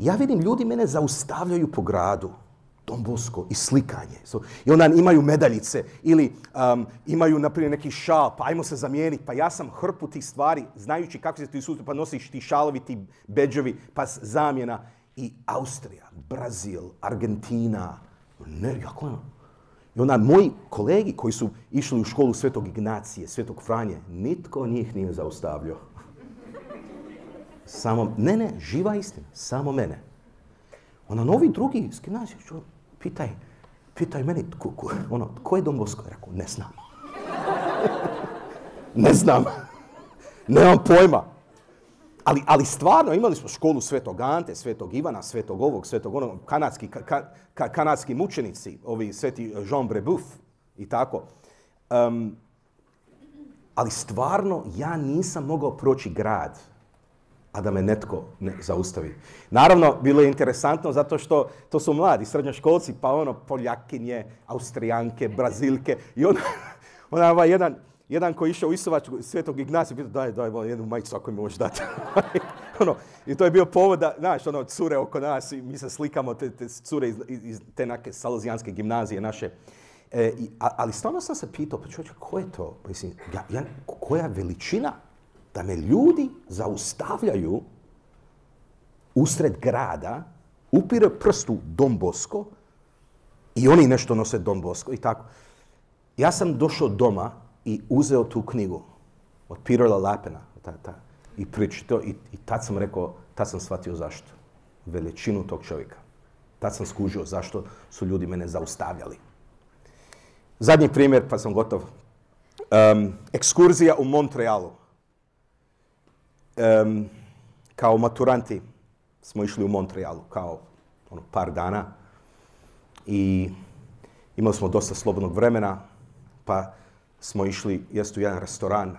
Ja vidim, ljudi mene zaustavljaju po gradu, Don Bosco, i slikanje. I onda imaju medaljice ili imaju, na primjer, neki šal, pa ajmo se zamijeniti. Pa ja sam hrpu tih stvari, znajući kako se ti sustav, pa nosiš ti šalovi, ti bedževi, pa zamjena. I Austrija, Brazil, Argentina, ne, jako je. I onda moji kolegi koji su išli u školu Svetog Ignacije, Svetog Franje, nitko njih nije zaustavljao. Samo, ne, živa istina, samo mene. Onda novi drugi iz gimnazije, pitaj meni, ko je Don Bosco? Rekao, ne znam. Ne znam. Nemam pojma. Ali stvarno, imali smo školu Svetog Ante, Svetog Ivana, Svetog ovog, Svetog onog, kanadski mučenici, ovi Sveti Jean Brebeuf i tako. Ali stvarno, ja nisam mogao proći grad, a da me netko ne zaustavi. Naravno, bilo je interesantno zato što to su mladi srednjoškolci, pa Poljakinje, Austrijanke, Brazilke. I onda jedan koji je išao u Isovačku Svetog Ignacija, pitao daj jednu majicu ako mi možeš dati. I to je bio povod da, znaš, cure oko nas i mi se slikamo, te cure iz te neke salozijanske gimnazije naše. Ali stvarno sam se pitao, pa čovječe, ko je to? Mislim, koja veličina da me ljudi zaustavljaju usred grada, upire prstu Don Bosco i oni nešto nose Don Bosco i tako. Ja sam došao doma i uzeo tu knjigu od Petera Lapena i pričao i tad sam rekao, tad sam shvatio zašto. Veličinu tog čovjeka. Tad sam skužio zašto su ljudi mene zaustavljali. Zadnji primjer, pa sam gotov. Ekskurzija u Montrealu. Kao maturanti smo išli u Montrealu kao par dana i imali smo dosta slobodnog vremena, pa smo išli jesti u jedan restoran,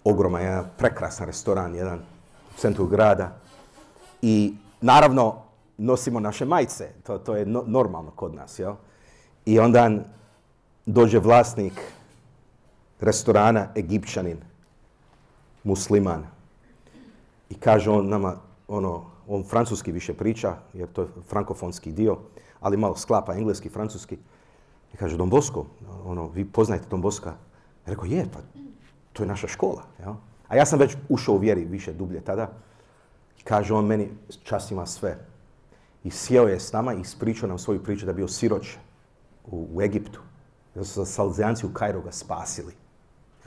ogroman, jedan prekrasan restoran, jedan u centru grada i naravno nosimo naše majice, to je normalno kod nas, jel? I onda dođe vlasnik restorana, Egipćanin, musliman. I kaže on nama, on francuski više priča, jer to je frankofonski dio, ali malo sklapa engleski, francuski. I kaže, Don Bosco, vi poznajete Don Bosca? Ja rekao, je, pa to je naša škola. Ja? A ja sam već ušao u vjeri više dublje tada. I kaže on meni, čast ima sve. I sjeo je s nama i ispričao nam svoju priču da je bio siroć u Egiptu. Da su Salezijanci u Kairu ga spasili.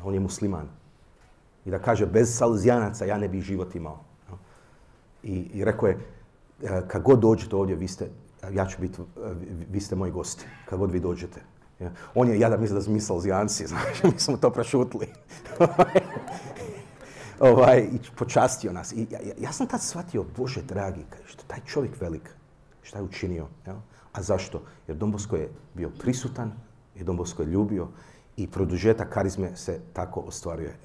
On je musliman. I da kaže, bez Salezijanaca ja ne bih život imao. I rekao je, kad god dođete ovdje, ja ću biti, vi ste moji gosti, kad god vi dođete. On je jadan mislio da smo mi Salezijanci, znači, mi smo to prešutili. I počastio nas. I ja sam tad shvatio, Bože dragi, što taj čovjek velik, šta je učinio. A zašto? Jer Don Bosco je bio prisutan, jer Don Bosco je ljubio i produžetak karizme se tako ostvaruje.